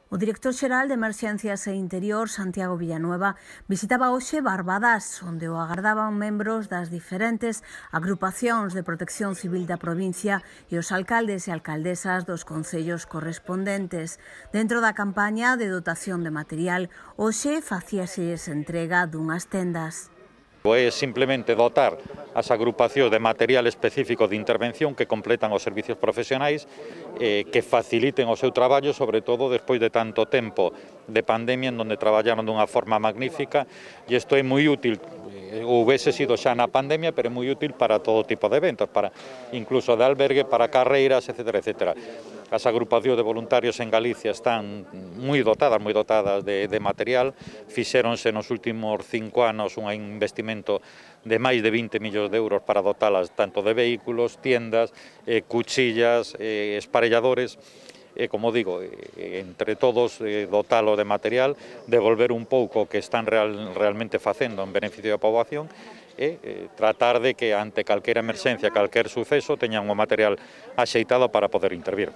O director xeral de Emerxencias e Interior, Santiago Villanueva, visitaba hoxe Barbadas, onde o agardaban membros das diferentes agrupacións de protección civil da provincia e os alcaldes e alcaldesas dos concellos correspondentes. Dentro da campaña de dotación de material, hoxe facíases entrega dunhas tendas. É simplemente dotar as agrupacións de material específico de intervención que completan os servicios profesionais, que faciliten o seu traballo, sobre todo despois de tanto tempo de pandemia en onde traballaron dunha forma magnífica, e isto é moi útil, houvese sido xa na pandemia, pero é moi útil para todo tipo de eventos, para incluso de albergue, para carreiras, etcétera, etcétera. As agrupacións de voluntarios en Galicia están moi dotadas de material. Fixéronse nos últimos 5 anos un investimento de máis de 20 millóns de euros para dotalas tanto de vehículos, tiendas, cuchillas, esparelladores. Como digo, entre todos dotalo de material, devolver un pouco o que están realmente facendo en beneficio da poboación e tratar de que ante calquera emerxencia, calquer suceso, teñan o material axeitado para poder intervir.